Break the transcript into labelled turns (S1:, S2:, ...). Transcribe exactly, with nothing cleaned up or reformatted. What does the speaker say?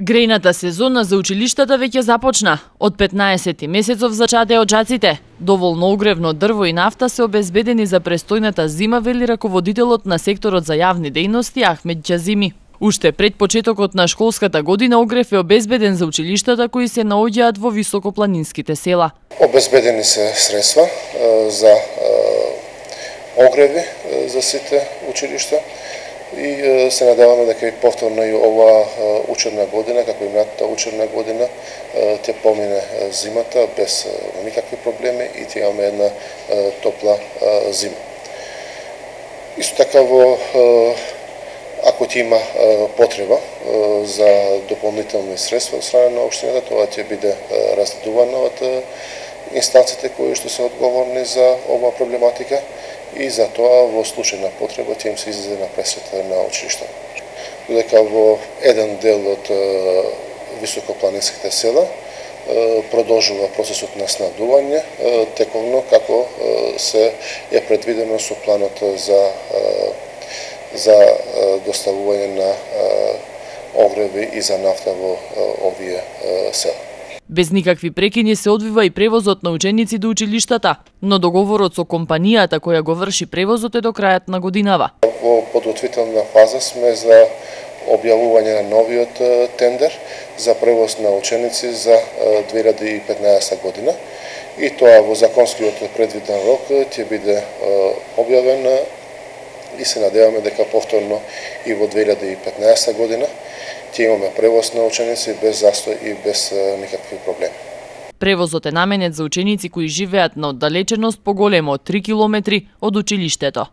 S1: Грејната сезона за училиштата веќе започна. Од петнаесети месецов зачаде оджаците. Доволно огревно дрво и нафта се обезбедени за престојната зима, вели раководителот на секторот за јавни дејности Ахмед Џазими. Уште пред почетокот на школската година огрев е обезбеден за училиштата кои се наоѓаат во високопланинските села.
S2: Обезбедени се средства за огреви за сите училишта и се надеваме дека и повторно и оваа учебна година, како и минатата учебна година, ќе помине зимата без никакви проблеми и ќе имаме една топла зима. Исто така во ако ќе има потреба за дополнителни средства од страна на општината, тоа ќе биде разгледувано од инстанциите кои што се одговорни за оваа проблематика и за тоа во случај на потреба ќе им се излезе на пресвета на училиштата. Додека во еден дел од високопланинските села продолжува процесот на снабдување тековно како се е предвидено со планот за за доставување на огреви и за нафта во овие села.
S1: Без никакви прекини се одвива и превозот на ученици до училиштата, но договорот со компанијата која го врши превозот е до крајот на годинава.
S2: Во подготвителна фаза сме за објавување на новиот тендер за превоз на ученици за две илјади и петнаесетта година и тоа во законскиот предвиден рок ќе биде објавен и се надеваме дека повторно и во две илјади и петнаесетта година ќе имаме превоз на ученици без застој и без никакви проблеми.
S1: Превозот е наменет за ученици кои живеат на оддалеченост поголема од три километри од училиштето.